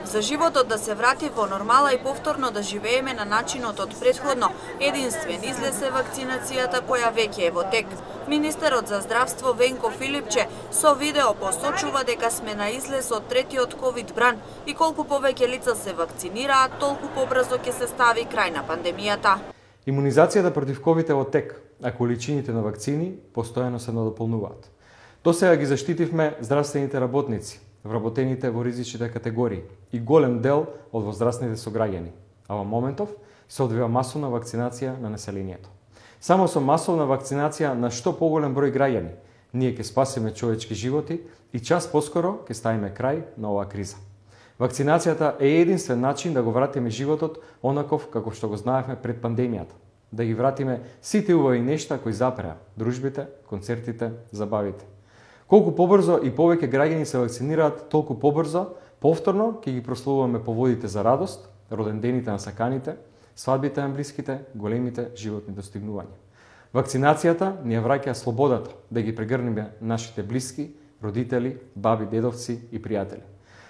За животот да се врати во нормала и повторно да живееме на начинот од претходно, единствен излез е вакцинацијата која веќе е во тек. Министерот за здравство Венко Филипче со видео посочува дека сме на излез од третиот ковид бран и колку повеќе лица се вакцинираат, толку побрзо ќе се стави крај на пандемијата. Имунизацијата против ковид е во тек, а количините на вакцини постојано се надополнуваат. Досега ги заштитивме здравствените работници, вработените во ризичните категории и голем дел од возрастните сограѓани, а во моментов се одвива масовна вакцинација на населението. Само со масовна вакцинација на што поголем број граѓани, ние ќе спасиме човечки животи и час поскоро ќе ставиме крај на оваа криза. Вакцинацијата е единствен начин да го вратиме животот онаков како што го знаевме пред пандемијата, да ги вратиме сите убави нешта кои запреа, дружбите, концертите, забавите. Колку побрзо и повеќе граѓани се вакцинираат, толку побрзо, повторно ќе ги прославуваме поводите за радост, родендените на саканите, свадбите на блиските, големите животни достигнувања. Вакцинацијата ни ја враќа слободата да ги прегрнеме нашите блиски, родители, баби, дедовци и пријатели.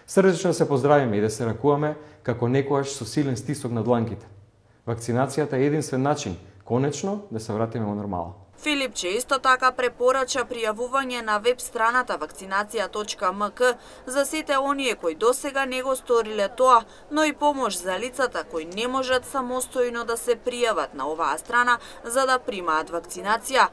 Срдечно се поздравиме и да се ракуваме како некогаш со силен стисок на дланките. Вакцинацијата е единствен начин конечно да се вратиме во нормала. Филипче исто така препорача пријавување на веб страната вакцинација.мк за сите оние кои досега не го сториле тоа, но и помош за лицата кои не можат самостојно да се пријават на оваа страна за да примаат вакцинација.